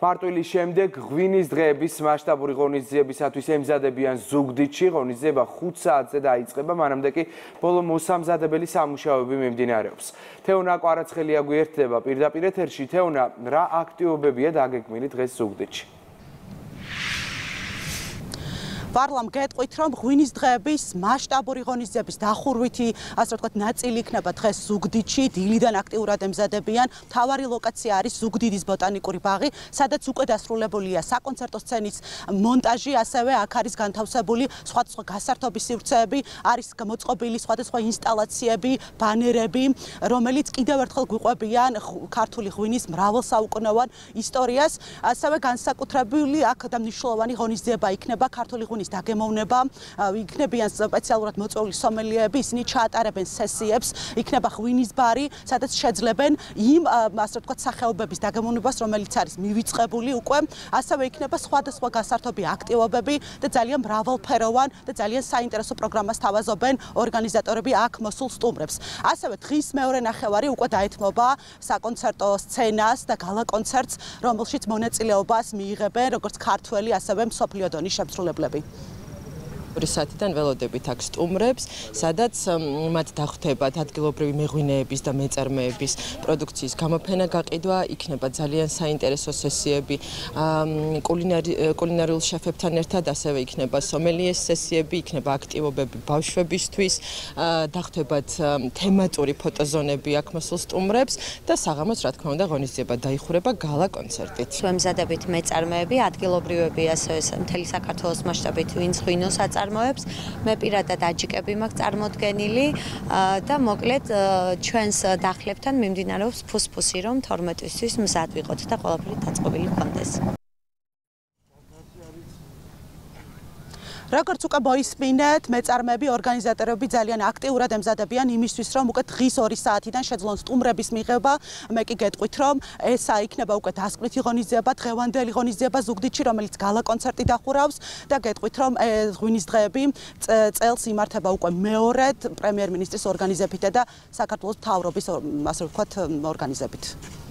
მარტვილის შემდეგ ღვინის დღეების მასშტაბური ღონისძიებისათვის ემზადებიან ზუგდიდში. ღონისძიება 5 საათზე დაიწყება, მანამდე კი ბოლო მოსამზადებელი სამუშაოები მიმდინარეობს. თეონა კვარაცხელია გვერდება პირდაპირ ეთერში. თეონა, რა აქტივობებია დაგეგმილი დღეს ზუგდიდში? ვარლამ გეტყვით, რომ ღვინის დღეების მასშტაბური ღონისძიების დახურვითი, ასე ვთქვათ, ნაწილი იქნება დღეს ზუგდიდში, დილიდან აქტიურად ემზადებიან. მთავარი ლოკაცია არის ზუგდიდის ბოტანიკური ბაღი, სადაც უკვე დასრულებულია საკონცერტო სცენის მონტაჟი, ასევე აქ არის განთავსებული სხვადასხვა გასართობის სივრცეები, არის მოწყობილი სხვადასხვა ინსტალაციები, ბანერები, რომელიც კიდევ ერთხელ გვიყვებიან ქართული ღვინის მრავალსაუკუნოვან ისტორიას. ასევე განსაკუთრებული აქ და მნიშვნელოვანი ღონისძიება იქნება ქართული ღვინის დაგემოვნება, იქნებიან სპეციალურად მოწვეული სომელიეები, ისინი ჩაატარებენ სესიებს, იქნება ღვინის ბარი, სადაც შეძლებენ იმ, ასე ვთქვათ, სახეობების დაგემოვნებას, რომელიც არის მივიწყებული უკვე, ასევე იქნება სხვადასხვა გასართობი აქტივობები და ძალიან მრავალფეროვან და ძალიან საინტერესო პროგრამას თავაზობენ ორგანიზატორები აქ მოსულ სტუმრებს. ასევე დღის მეორე ნახევარი უკვე დაეთმობა საკონცერტო სცენას და გალა კონცერტს, რომელშიც მონაწილეობას მიიღებენ როგორც ქართველი, ასევე მსოფლიო დონის შემსრულებლები. საათიდან ველოდებით აქ სტუმრებს, სადაც მათ დახვდებათ ადგილობრივი მეღვინეების და მეწარმეების პროდუქციის გამოფენა გაყიდვა, იქნება ძალიან საინტერესო სესიები კულინარიულ შეფებთან ერთად, ასევე იქნება სომელიეს სესიები, იქნება აქტივობები ბავშვებისთვის, დახვდებათ თემატური ფოტოზონები აქ მოსულ სტუმრებს და საღამოს, რა თქმა უნდა, ღონისძიება დაიხურება გალა კონცერტით. ემზადებით მეწარმეები, ადგილობრივები, ასევე მთელი საქართველოს მასშტაბით ვინც ღვინოს წარმოებს. მე პირადად აჯიკები მაქვს წარმოდგენილი და მოკლედ ჩვენს დახლებთან მიმდინარეობს ფუსფუსი, რომ 12-ისთვის მზად ვიყოთ და ყველაფერი დაწყობილი გქონდეს. როგორც უკვე მოისმინეთ, მეწარმეები, ორგანიზატორები ძალიან აქტიურად ემზადებიან იმისთვის, რომ უკვე დღის 2 საათიდან შეძლონ სტუმრების მიღება. მე კი გეტყვით, რომ ესა იქნება უკვე დასკვნითი ღონისძიება, დღევანდელი ღონისძიება ზუგდიდში, რომელიც გალა კონცერტი დახურავს და გეტყვით, რომ ღვინის დღეები წელს იმართება უკვე მეორედ პრემიერ-მინისტრის ორგანიზებით და საქართველოს მთავრობის, ასე ვთქვათ, ორგანიზებით.